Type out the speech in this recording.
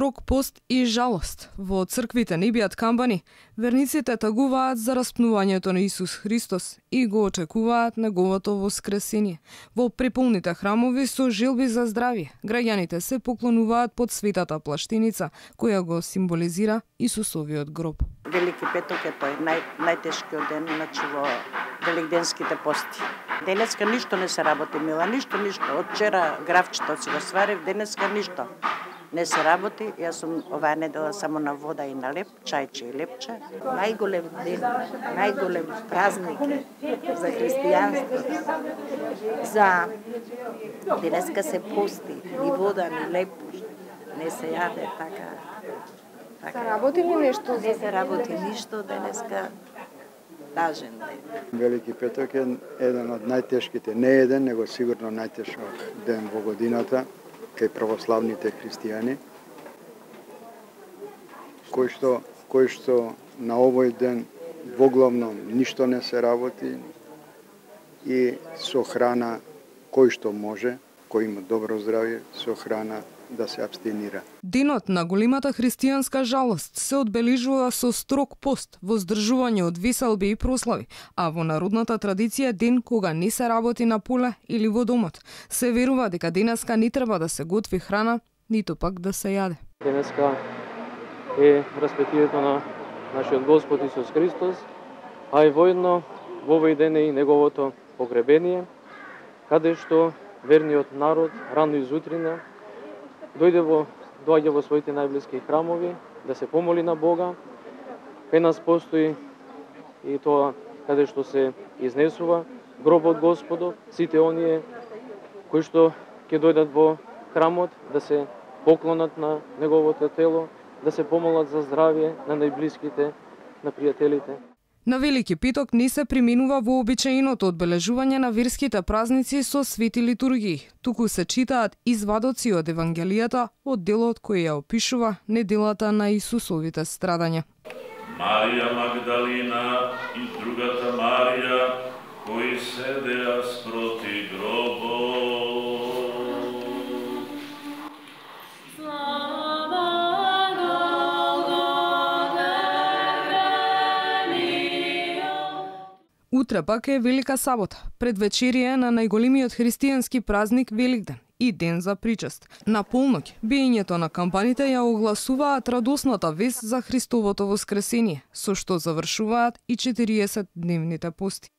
строг пост и жалост. Во црквите не биат камбани, верниците тагуваат за распнувањето на Исус Христос и го очекуваат неговото воскресение. Во преполните храмови со желби за здравје, граѓаните се поклонуваат под светата плаштиница, која го символизира Исусовиот гроб. Велики петок е тој најтешкиот ден, значи во великденските пости. Денеска ништо не се работи, мила, ништо. Од вчера графчето си го сварив, денеска ништо не се работи. Јас сум оваа недела само на вода и на леп, чајче и лепче. Најголем ден, најголем празник за христијанството. За денеска се пости, ни вода, ни леп, не се јаде така. Се работи ли нешто? Не се работи ништо денеска. Тажен ден. Велики петок е еден од најтешките, не еден, него сигурно најтешок ден во годината кај православните христијани, кој што на овој ден воглавно ништо не се работи и со храна кој што може, кој има добро здравје, со храна да се абстинира. Денот на големата христијанска жалост се одбележува со строг пост, воздржување од веселби и прослави, а во народната традиција ден кога не се работи на поле или во домот. Се верува дека денеска не треба да се готви храна, ниту пак да се јаде. Денеска е распетието на нашиот Господ Исус Христос, а и воедно во овој ден е и неговото погребение, каде што верниот народ рано изутрина доаѓа во своите најблиски храмови да се помоли на Бога. Кај нас постои и тоа каде што се изнесува гробот Господов, сите оние кои што ќе дојдат во храмот да се поклонат на неговото тело, да се помолат за здравје на најблиските, на пријателите. На Велики петок не се применува вообичаеното одбележување на верските празници со свети литургии, туку се читаат извадоци од Евангелијата од делот кој ја опишува неделата на Исусовите страдања. Марија Магдалина и другата Марија, кои седеа спроти гробот. Утре пак е Велика сабота, предвечерие на најголемиот христијански празник Великден и ден за причест. На полноќ, биењето на кампаните ја огласуваат радосната вест за Христовото воскресение, со што завршуваат и 40-дневните пости.